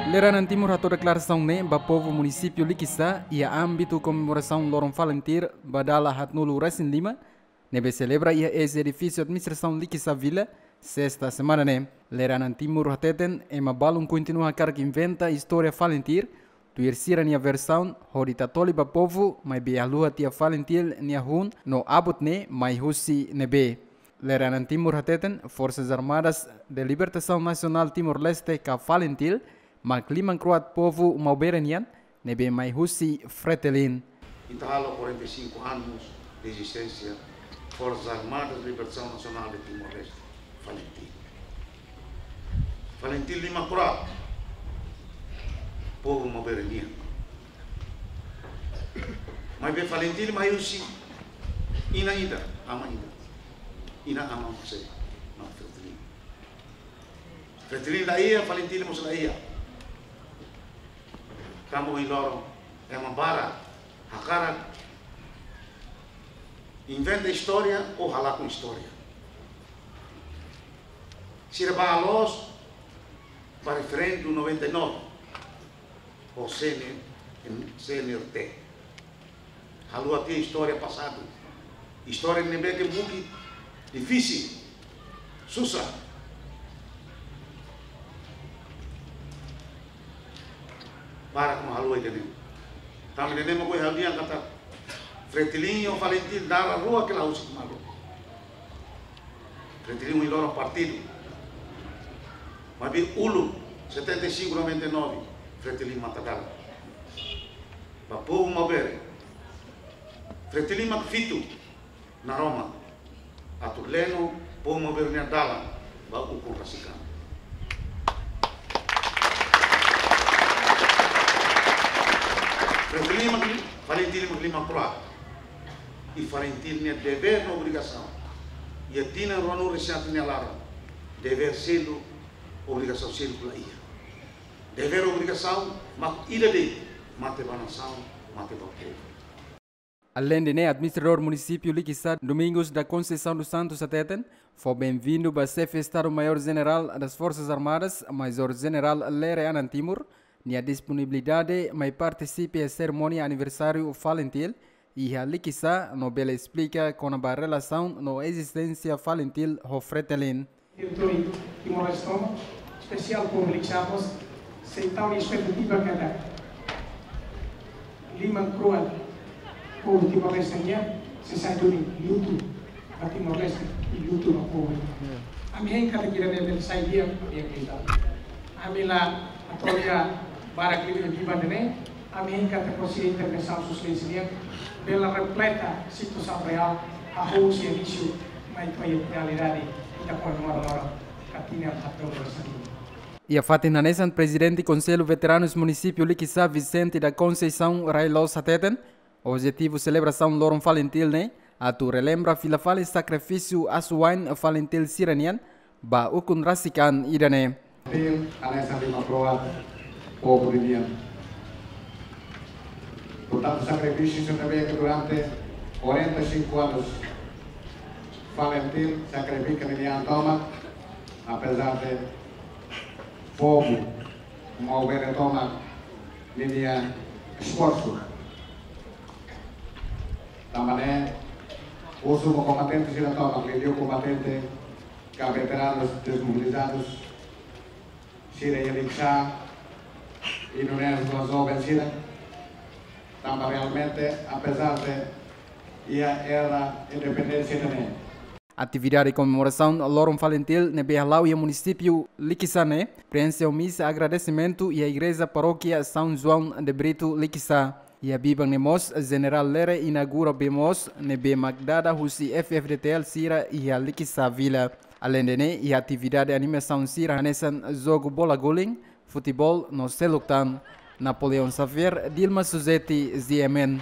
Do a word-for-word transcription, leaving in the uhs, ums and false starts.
Lere Anan Timur hato'o deklarasaun ne'e ba povu munisípiu Likisá iha ámbitu komemorasaun loron Falintil ba dala haatnulu resin lima, ne'ebé selebra iha eis edifísiu administrasaun Likisá Vila, sesta semana ne'e. Lere Anan Timur hateten, ema balun kontinua hakarak inventa istória Falintil tuir sira-nia versaun, hodi tatoli ba povu, maibé haluha tiha Falintil nia hun no abut ne'e mai husi ne'ebé. Lere Anan Timur hateten, Forças Armadas de Libertação Nacional Timor-Leste ka Falintil mak liman kro'at povu maubere nian, ne'ebé mai husi Fretilin. Ita halo quarenta e cinco anos de existência Forças Armadas de Libertação Nacional de Timor-Leste, Falintil. Falintil liman kro'at povu maubere nian. Maibé Falintil mai husi inan ida, aman ida. Inan-aman José, mak Fretilin. Fretilin laiha, Falintil mós laiha. Tanba ohin loron ema barak hakarak inventa istória ou halakon istória. Sira bá loos ba referendu noventa e nove ho C N, C N R T. Haluha tiha istória pasadu. Istória ne'ebé ke mungkin difisil, susar. Barak mak haluha ida-ne'e. Tanba ida-ne'e mak ohin ha'u dehan katak Fretilin ho Falintil dala rua ke la husik malu. Fretilin ohin loron partidu. Maibé uluk, setenta e cinco, noventa e nove, Fretilin matan dalan ba povu maubere. Fretilin mak fitu naroman atu leno povu maubere nia dalan ba ukun rasik an. Fretilin mak, Falintil mak liman kro'at. I Falintil nia devér no obrigasaun iha tinan ruanulu-resin-haat nia laran, devér seluk, obrigasaun seluk laiha. Devér, obrigasaun mak ida de'it, mate ba nasaun, mate ba povu. Aleinde ne'e, administradór munisípiu Likisá, Domingos da Conceição dos Santos hateten, fó benvindu ba Xefe Estadu-Maiór Jenerál das Forças Armadas, Majór Jenerál Lere Anan Timur, nia disponibilidade mai partisipa iha serimónia aniversáriu Falintil iha Likisá, no bele esplika kona-ba relasaun no ezisténsia Falintil ho Fretilin. Territóriu Timor-Leste tomak, espesiál povu Likisá mós, sei tau espetativa katak liman kro'at povu Timor-Leste nian sei sai duni lutu ba Timor-Leste i lutu ba povu. Ami hein katak ida-ne'e bele sai di'ak, ami akredita. Ami la atu lia barak liu iha biban ida-ne'e, ami hein katak husi intervensaun Sua Exelénsia nian bele refleta situasaun reál, hahú husi inísiu mai to'o iha realidade ita komemora loron ka tinan haatnulu-resin-lima. Iha fatin hanesan, Prezidente Konsellu Veteranus Munisípiu Likisá, Vicente da Conceição Railos hateten, objetivu selebrasaun loron Falintil ne'e atu relembra fila fali sakrifísiu asuwa'in Falintil sira-nian ba ukun rasik an ida-ne'e. Falintil hanesan liman kro'at povu ninian. Portantu, sakrifísiu sira ne'ebé ke durante quarenta e cinco anos Falintil sakrifika ninia an tomak, apezar de povu maubere tomak ninia esforsu. Tanba ne'e, husu ba kombatente sira tomak, liuliu kombatente ka veteranus desmobilizadus sira iha Likisá i nune'e ba joven sira, tanba realmente, apezar de iha era independénsia ida-ne'e. Atividade komemorasaun loron Falintil ne'ebé hala'o iha munisípiu Likisá ne'e, prenxe ho misa agradesimentu iha Igreja Parókia São João de Brito, Likisá. Iha biban ne'e mós, Jenerál Lere inaugura bee moos ne'ebé mak dada husi F F D T L sira iha Likisá Vila. Aleinde ne'e, iha atividade animasaun sira hanesan jogu bola guling, futeból no seluk tan. Napoleão Xavier, Dilma Suzeti, G M N.